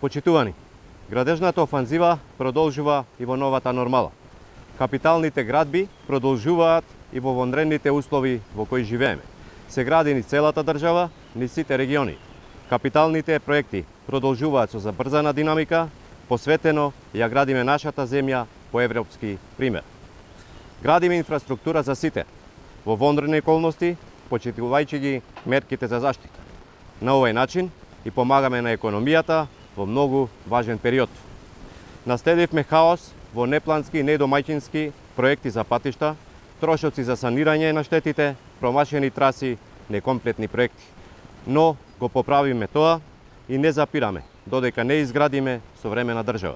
Почитувани, градежната офанзива продолжува и во новата нормала. Капиталните градби продолжуваат и во вонредните услови во кои живееме. Се гради ни целата држава, ни сите региони. Капиталните проекти продолжуваат со забрзана динамика, посветено ја градиме нашата земја по европски пример. Градиме инфраструктура за сите, во вонредни околности, почитувајќи ги мерките за заштита. На овој начин и помагаме на економијата во многу важен период. Наследивме хаос во неплански и недомаќински проекти за патишта, трошоци за санирање на штетите, промашени траси, некомплетни проекти. Но го поправиме тоа и не запираме, додека не изградиме современа држава.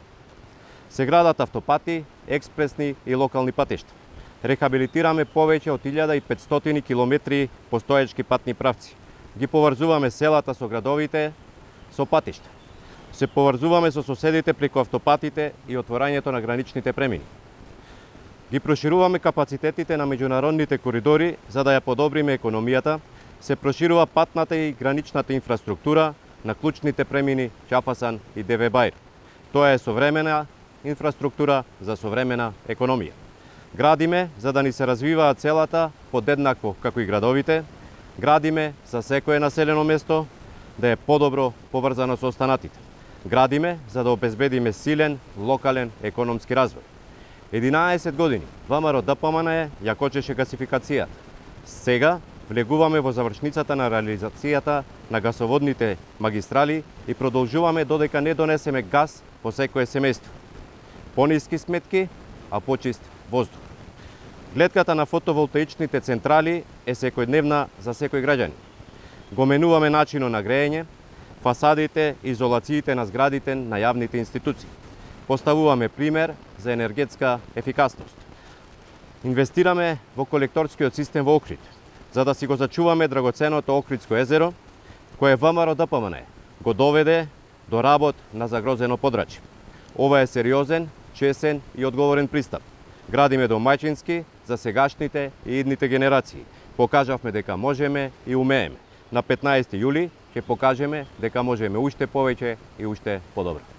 Се градат автопати, експресни и локални патишта. Рехабилитираме повеќе од 1500 километри постоечки патни правци. Ги поврзуваме селата со градовите со патишта. Се поврзуваме со соседите преку автопатите и отворањето на граничните премини. Ги прошируваме капацитетите на меѓународните коридори за да ја подобриме економијата, се проширува патната и граничната инфраструктура на клучните премини Чафасан и ДВ Баир. Тоа е современа инфраструктура за современа економија. Градиме за да ни се развиваат селата подеднакво како и градовите, градиме за секое населено место да е подобро поврзано со останатите. Градиме за да обезбедиме силен локален економски развој. 11 години ВМРО ДПМН ја кочеше гасификацијата. Сега влегуваме во завршницата на реализацијата на гасоводните магистрали и продолжуваме додека не донесеме газ по секое семејство. Пониски сметки, а почист воздух. Гледката на фотоволтаичните централи е секојдневна за секој граѓанин. Го менуваме начинот на грејење, фасадите и изолациите на зградите на јавните институции. Поставуваме пример за енергетска ефикасност. Инвестираме во колекторскиот систем во Охрид, за да си го зачуваме драгоценото Охридско езеро, кое ВМРО ДПМН го доведе до работ на загрозено подрачје. Ова е сериозен, чесен и одговорен пристап. Градиме домаќински за сегашните и идните генерации. Покажавме дека можеме и умееме. На 15 јули ќе покажеме дека можеме уште повеќе и уште подобро.